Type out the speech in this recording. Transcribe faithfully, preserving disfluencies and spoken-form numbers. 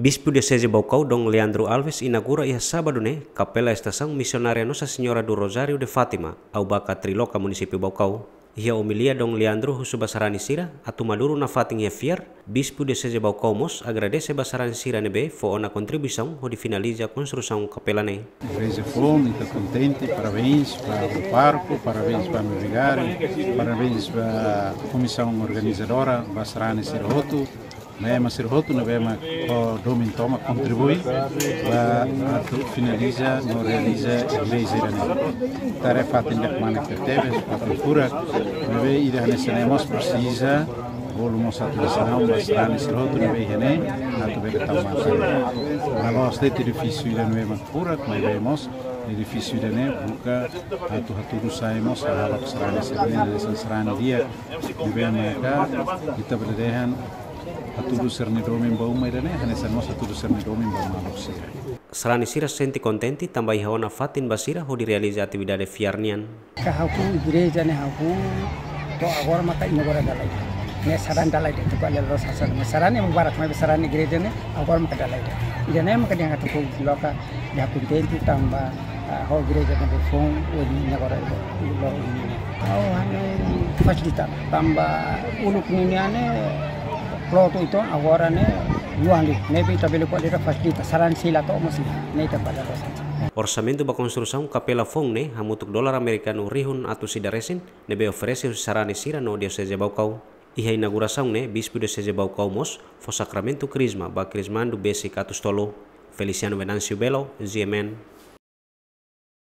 Bispu Dioseze Baucau, Dom Leandro Alves, inaugura iha sábadu ne'e Kapela Estasaun Misionária Nossa Senhora do Rosário de Fátima, Aubaka Triloca, Munisípiu Baucau. Iha omilia Dom Leandro husu ba sarani sira atu maduru nafatin iha fiar, Bispu Dioseze Baucau mós agradese ba sarani sira ne'ebé fó ona kontribuisaun hodi finaliza konstrusaun kapela ne'e. Igreja foun, ita kontente, parabéns ba pároku, parabéns ba vigáriu, parabéns ba komisaun organizadora, ba sarani sira hotu, ba ema sira hotu ne'ebé mak ho domin tomak kontribui ba atu finaliza no realiza igreja ida-ne'e. Tarefa ida-ne'e mak tebes, ba kultura, ne'ebé ida hanesan ne'e mós presiza bolu mós atensaun ba sarani sira hotu ne'ebé iha ne'e, atu bele tau matan. La'ós de'it edifísiu ida ne'ebé mak furak, maibé mós edifísiu ida-ne'e buka atu hatudu sai mós, halo sarani sira-ne'e, hanesan sarani di'ak ne'ebé maka ita bele dehan hatudu sira-nia domin ba uma ida-ne'e, hanesan mós hatudu sira-nia domin ba maluk sira. Sarani sira sente kontente tanba iha ona fatin ba sira hodi realiza atividade fiar nian. Ka ha'u igreja ne'e ha'u to'o agora maka inaugura dala ida. Ne'e sarani dala ida, tuku ale los hasan. Ne'e sarani ema barak, maibé sarani igreja ne'e agora maka dala ida. Ida-ne'e maka dehan katak ha'u loke, ha'u kontente tanba, ah, ho igreja ne'ebé foun, hodi inaugura ida, lo ini. Ha'u hanoin fasilita, tanba uluk nian ne'e, lotu ita agora ne'e, luan li, ne'ebé ita bele ko'alia fasilita, sarani sira to'o mós iha, ne'e ita bele los hasan. Orsamentu ba konstrusaun kapela foun ne'e hamutuk dolar amerikanu rihun atus ida resin, ne'ebé oferese husi sarani sira no Dioseze Baucau. Iha inaugurasaun ne'e, Bispu Dioseze Baucau mós fó sakramentu Krisma ba Krismandu besik atus tolu. Feliciano Venâncio Belo, G M N,